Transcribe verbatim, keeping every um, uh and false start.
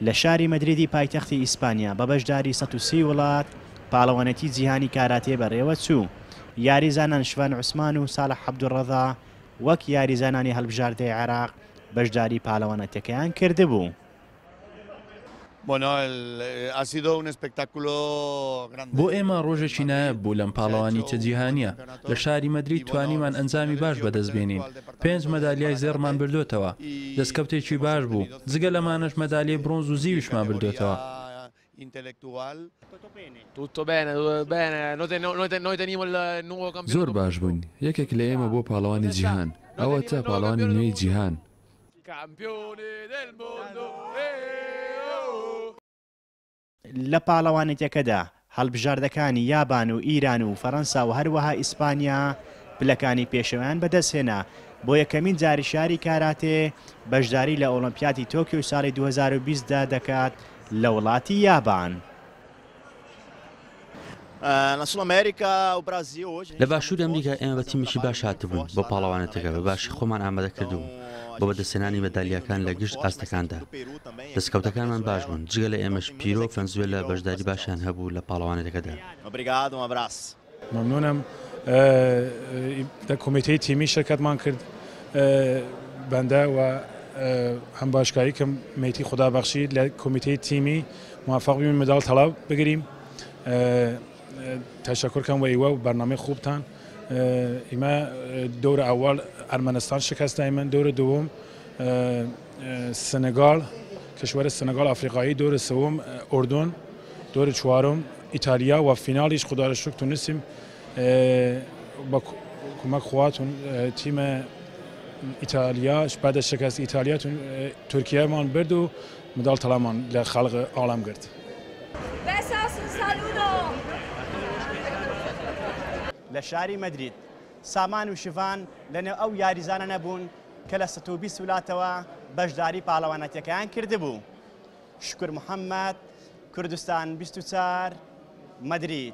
لە شاری مەدریدی پایتەختی ئیسپانیا بە بەشداری سەد و سی وڵات پاڵەوانێتی جیهانی کاراتێ بەڕێوە چوو. یاریزانان شوان عوسمان و ساڵح عەبدولڕەزا وەک یاریزانانی هەڵبژاردەی عێراق بەشداری پاڵەوانێتیەکەیان کردبوو. بۆ ئێمە ڕۆژێکی نایاب بوو لەم پاڵەوانیتە جیهانییە. لە شاری مەدرید توانیمان ئەنجامی باش بەدەست بێنین. پێنج مەدالیای زێڕمان بردۆتەوە. دەستکەوتێکی باش بوو. جگە لەمانەش مەدالیای برۆنز و زیویشمان بردۆتەوە. زۆر باش بووین. یەکێک لە ئێمە بۆ پاڵەوانی جیهان. ئەوەتە پاڵەوانی نوێی جیهان. لە پاڵەوانێتیەکەدا هەڵبژاردەکانی یابان و ئیران و فەرەنسا و هەروەها ئیسپانیا پلەکانی پێشەوەیان بەدەستهێنا. بۆ یەکەمین جاری شاری کاراتێ بەشداری لە ئۆڵۆمپیاتی تۆکیۆ ساڵی دوو هەزار و بیست دا دەکات لە وڵاتی یابان. لە باشووری ئەمریکا ئێمە بە تیمێکی باش هاتبووین بۆ پاڵەوانێتەکە، بە باشی خۆمان ئامادە کردبوو بۆ بەدەستهێنانی مەدالیاکان لە گشت ئاستەکاندا. دەستکەوتەکانمان باش بوون، جگە لە ئێمەش پیرۆ و فەنزوێلا بەشداری باشیان هەبوو لە پاڵەوانێتەکەدا. ممنونم لە کۆمیتەی تیمی شرکتمان کرد بەندە و هەم باشکاری کە مەیتی خدا بەخشی لە کۆمیتەی تیمی موفق بیم مدال طلا بگریم. تشکر کم و ایوه و برنامه خوبتان. ایما دور اول ارمنستان شکست دایمن، دور دوم سنگال، کشور سنگال آفریقایی، دور سوم اردن، دور چهارم ایتالیا و فینالش خدا را شکر تونستیم با کمک خواتون تیم ایتالیا بعد از شکست ایتالیا ترکیه مان برد و مدال طلامان لخلق عالم کرد. لە شاری مەدرید سامان و شڤان لەنێو ئەو یاریزانە نەبوون کە لە سەد و بیست وڵاتەوە بەشداری پاڵەوانەتیەکەیان کردبوو. شکر محەممەد، کوردستان بیست و چوار، مەدرید.